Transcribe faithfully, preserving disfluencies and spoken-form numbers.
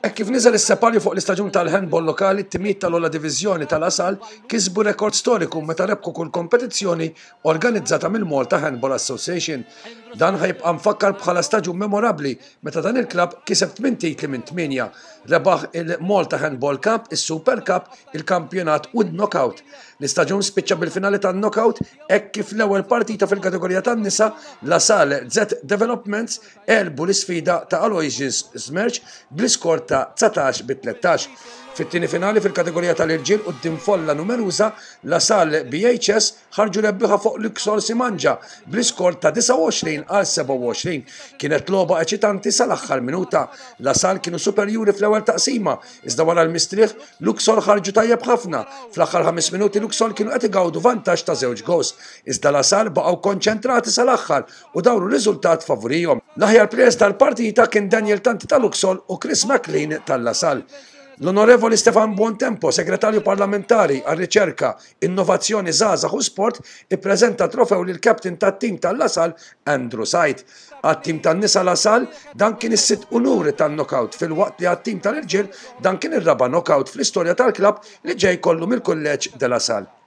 Hekk kif niżel is-separju fuq l-istaġun tal-handball lokali, t-timijiet tal-ogħla diviżjoni ta' La Salle kisbu rekord storiku meta rebħu kull kompetizzjoni organizzata mill-Malta Handball Association. Dan ħa jibqa' mfakkar bħala staġun memorabbli meta dan il-klabb kiseb tmien titli minn tmienja. Rebaħ il-Malta Handball Cup, is-Super Cup, il-Kampjonat u n-Knockout. L-istaġun spiċċa bil-finali tan-Knockout hekk kif l-ewwel partita fil-kategorija tan-nisa, La Salle Z Developments għelbu l-isfida ta' Aloysius Smerch bl-iskor ta' dsatax bi tlettax. Fit-tieni finali fil-kategorija tal-irġiel, quddiem folla numeruża, La Salle B H S ħarġu rebbieħa fuq Luxol Simanja bl-iskor ta' disgħa u għoxrin għal sebgħa u għoxrin. Kienet logħba eċitanti sal-aħħar minuta. La Salle kienu superjuri fl-ewwel taqsima, iżda wara l-mistrieħ Luxol ħarġu tajjeb ħafna. Fl-aħħar ħames minuti Luxol kienu qed igawdu vantaġġ ta' żewġ goals, iżda La Salle baqgħu konċentrati sal-aħħar u dawru riżultat favorihom. L-aħjar players tal-partita kien Daniel Tanti tal-Luxol u Chris McLean tal-La Salle. L-Onorevoli Stefan Buontempo, segretarju parlamentari għal riċerka, innovazzjoni, żgħażagħ u sport, ippreżenta trofew lil captain tat-tim tal-La Salle, Andrew Said. Għat-tim tan-nisa La Salle dan kien is-sitt unuri tan-knockout, filwaqt li għat-tim tal-irġiel dan kien ir-raba' knockout fl-istorja tal-klabb li ġej kollu mill-kulleġġ de La Salle.